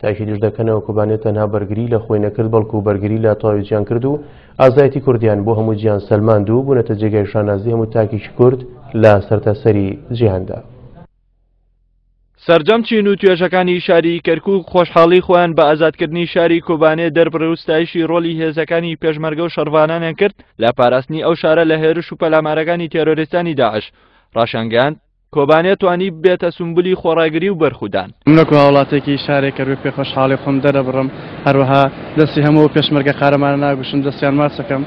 تاکیدیش دەکەنەوە کۆبانێ تەنها بەرگری لە خۆی نەکرد بەڵکو بەرگری لە تەواوی جیهان کرد و ئازایەتی کوردیان بۆ هەموو جیهان سەلماند و بوونەتە جێگای شانازی هەموو تاکێکی کورد لە سەرتاسەری جیهاندا. سەرجەم چین و توێژەکانی شاری کەرکوک خۆشحاڵی خۆیان بە ئازادکردنی شاری کۆبانێ دەربڕی و ستایشی ڕۆڵی هێزەکانی پێشمەرگە و شەڕڤانانیان کرد لە پاراستنی ئەو شارە لە هێرش و پەلامارەکانی تێرۆریستانی داعش. ڕاشیانگەیاند، کۆبانێ توانی ببێتە سومبولی خۆڕاگری و بەرخودان. من وەکو هاوڵاتیەکی شارێک کەرکوک پێ خۆشحاڵی خۆم دەرەبڕم، هەروەها دەستی هەموو ئەو پێشمەرگە قارەمانە ناگوشم، دەستیان ماچەکەم،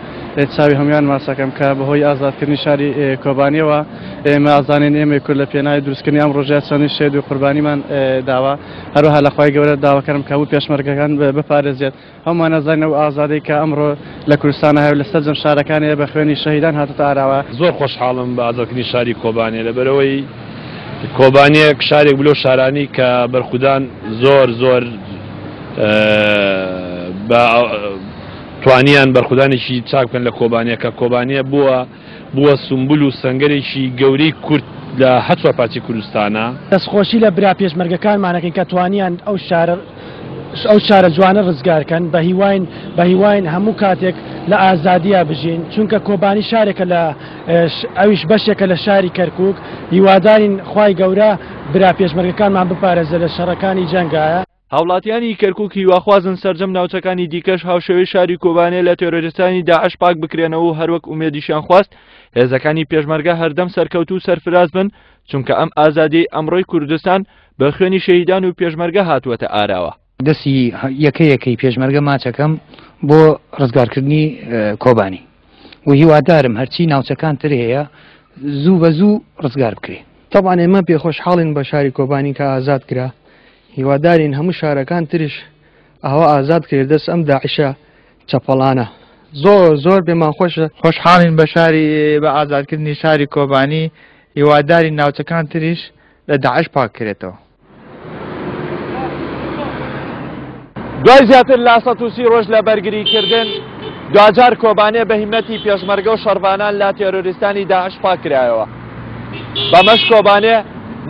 چاوی هەموویان ماچەکەم کە بەهۆی ئازادکردنی شاری کۆبانیەوە ئێمە ئەزانین ئێمەی کورد لە پێناوی دروستکردنی ئەم ڕۆژەیا چەندین شەهید و قوربانیمان داوە، هەروەها لە خوای گەورە داواکارم کە هەموو پێشمەرگەکان بپارێزێت. هەموومان ئەزانین ئەو ئازادەی کە ئەمڕۆ لە کوردستانا هەیە و لە سەرجەم شارەکان هەیە بە خوێنی شەهیدان هاتۆتە ئاراوە. زۆر خۆشحاڵم بە ئازادکردنی شاری کۆبانێ لەبەرئەوەی کۆبانێ شارێک بوو لەو شارانەی کە بەرخودان زۆر زۆر بە توانیان بەرخودانێکی چاک بکەن لە کۆبانێ کە کۆبانێ بووە بووە سومبول و سەنگەرێکی گەورەی کورد لە هەر چوارپارچەی کوردستانا. دەستخۆشی لە برا پێشمەرگەکانمان ئەکەین کە توانیان ئەو شارە ئەو شارە جوانە ڕزگار کەن، بەهیواین بەهیواین هەموو کاتێک لە ئازادیا بژین، چونکە کۆبانی شارێکە لە ئەویش بەشێکە لە شاری کەرکوک، هیوادارین خوای گەورە برا پێشمەرگەکانمان بپارێزێ لە شەڕەکانی جەنگایە. هاوڵاتیانی کەرکوک هیواخوازن سەرجەم ناوچەکانی دیکەش هاوشێوەی شاری کۆبانێ لە تێرۆریستانی داعش پاک بکرێنەوە و هەروەک ئومێدیشیان خواست هێزەکانی پێشمەرگە هەردەم سەرکەوتوو و سەرفراز بن چونکە ئەم ئازادیەی ئەمڕۆی کوردستان بە خوێنی شەهیدان و پێشمەرگە هاتووەتە ئاراوە. دەستی یەکە یەکەی پێشمەرگە ماچەکەم بۆ ڕزگارکردنی کۆبانی و هیوادارم هەرچی ناوچەکان تر هەیە زوو بە زوو ڕزگار بکرێ. تەبعەن ئێمە پێخۆشحاڵین بە شاری کۆبانی کە ئازاد کرا هیوادارین هەموو شارەکان تریش ئاوا ئازاد کرێت دەست ئەم داعشە چەپەڵانە زۆر زۆر پێمان خۆشە. خۆشحاڵین بە شاری بە ئازادکردنی شاری کۆبانی هیوادارین ناوچەکان تریش لە داعش پاک کرێتەوە. دوای زیاتر لە 130 ڕۆژ لە بەرگریکردن دواجار کۆبانێ بە هیمەتی پێشمەرگە و شەڕڤانان لە تێرۆریستانی داعش پاککرایەوە. بەمەش کۆبانێ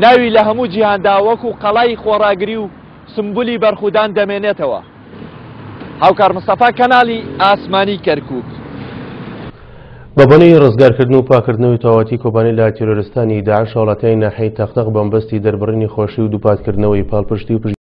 ناوی لە هەموو جیهاندا وەکو قەڵای خۆڕاگری و سمبولی بەرخودان دەمێنێتەوە. هاوکار مستەفا کەناڵی ئاسمانی کەرکوک. بەبۆنەی ڕزگارکردن و پاکردنەوەی تەواوەتی کۆبانی لە تیرۆرستانی داعش هاوڵاتیانی ناحیەی تەقتەق بەمەبەستی دەربڕینی خۆشی و دووپاتکردنەوەی پاڵپشتی و.